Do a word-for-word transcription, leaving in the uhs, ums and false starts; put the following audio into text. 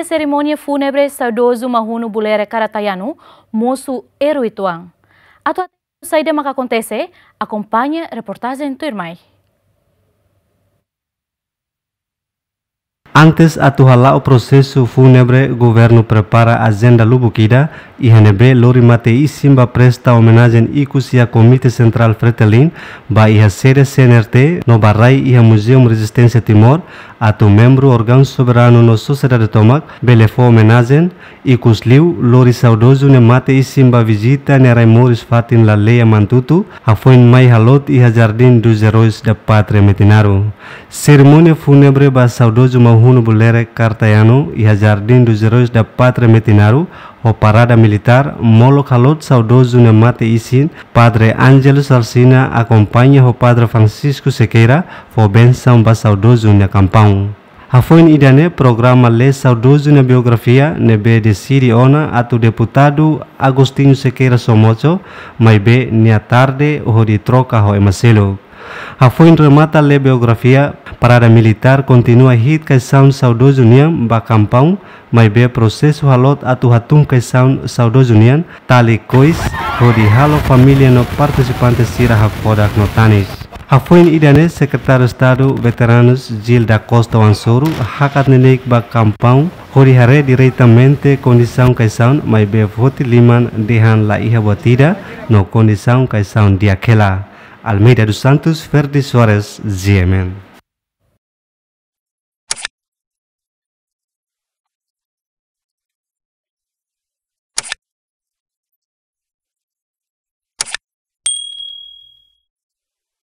Serimónia fúnebre saudozu Mahunu Bulerek Karatayanu mosu erui tuan. Atu hatene saida maka akontese, akompaña reportajen tuirmai. Antes atu hala'o prosesu fúnebre, governu prepara ajenda lubuk ida, iha ne'ebé lori mate isin ba presta omenajen ikus iha Komité Sentrál Fretilin, ba iha sede C N R T, no ba rai iha Museum Rezisténsia Timor, atu membru órgaun soberanu no sosiedade tomak bele fó omenajen, ikus liu lori saudozu nia mate isin ba vizita nia rai moris fatin Laleia Mantutu, hafoin mai haloot iha Jardim dos Heróis da Pátria Metinaro. Serimónia fúnebre ba saudozu Mahunu Bulerek Karatayanu iha Jardim dos Heróis da Pátria Metinaro, ho parada militár, molok haloot saudozu nia mate isin, Padre Ângelo Salsina akompaña ho Padre Francisco Sequeira, fó bensaun ba saudozu nia kampaun. Hafoin ida-ne'e programa lee saudozu nia biografia ne'ebé deside ona atu deputadu Agostinho Sequeira Somocho, maibé nia tarde hodi troka ho ema seluk. Hafoin remata lee biografia, parada militár kontinua hi'it kaixaun saudozu nian ba kampaun, maibé prosesu haloot atu hatún kaixaun saudozu nian, tali kois, hodi halo família no partisipante sira hakfodak no tanis. Hafoin ida-ne'e Sekretáriu Estadu Veteranus Gil da Costa Wansoru hakat neineik ba kampaun, hodi haree diretamente kondisaun kaixaun, maibé foti liman dehan la iha buat ida no kondisaun kaixaun di'ak hela. Almeida dos Santos, Ferdi Soares, G M N.